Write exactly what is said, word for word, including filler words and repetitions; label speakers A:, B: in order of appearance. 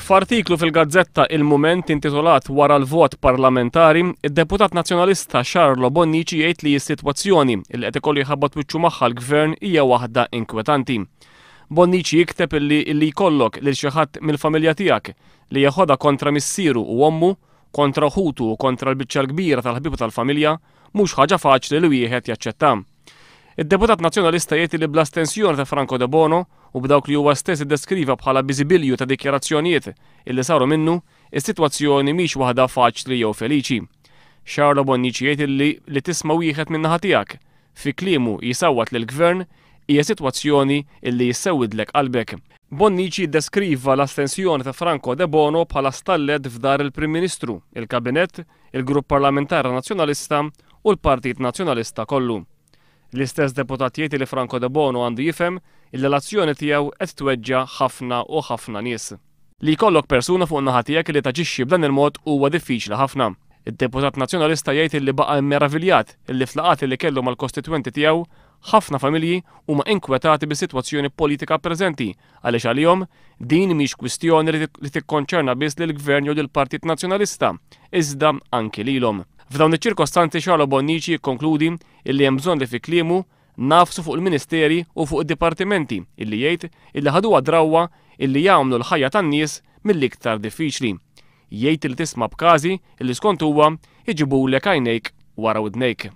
A: F'artiklu fil-gazzetta Il-Mument intitolat "Wara l-vot parlamentari", id-deputat nazzjonalista Charlo Bonnici jgħid li s-sitwazzjoni li qed ikollu jħabbat wiċċu magħha l-gvern hija waħda inkwetanti. Bonnici jikteb illi illi jkollok lil xi ħadd mill-familja tiegħek li jeħodha kontra missieru u ommu, kontra ħutu u kontra l-biċċa l-kbira tal-ħbieb tal-familja, mhux ħaġa faċli li wieħed jaċċetta. Id-deputat nazzjonalista jgħid li bl-astensjoni ta' Franco Debono u b'dawk li huwa stess iddeskriva bħala biżibilju ta' dikjarazzjonijiet illi saru minnu, is-sitwazzjoni mhix waħda faċli jew feliċi. Charlo Bonnici jgħid li li tisma' wieħed min-naħa tiegħek fi kliemu jisawwat lill-gvern hija sitwazzjoni illi jissewidlek qalbek. Bonnici deskriva l-astensjoni ta' Franco Debono bħala stallet f'dahar il-Prim Ministru, il-Kabinett, il-Grupp Parlamentari Nazzjonalista u l-Partit Nazzjonalista kollu. L-istess deputat jgħid li Franco Debono għandu jifhem illi l-azzjoni tiegħu qed tweġġa' ħafna u ħafna nies. Li jkollok persuna fuq naħa tiegħek li taġixxi b'dan il-mod huwa diffiċli ħafna. Id-deputat nazzjonalista jgħid li baqa' meraviljat illi f'laqgħat li kellu mal-kostitwenti tiegħu, ħafna familji huma inkwetati bis-sitwazzjoni politika preżenti, għaliex għalihom din mhix kwistjoni li tikkonċerna biss lill-Gvern jew lill-Partit Nazzjonalista, iżda anki lilhom. F'dawn iċ-ċirkostanzi, Charlo Bonnici jikkonkludi illi hemm bżonn li, fi kliemu, nagħfsu fuq il-ministeri u fuq id-dipartimenti illi jgħid illi ħaduha drawwa illi jagħmlu l-ħajja tan-nies mill-iktar diffiċli. Jgħid li tisma' b'każi illi skont huwa iġibulek għajnejk wara widnejk.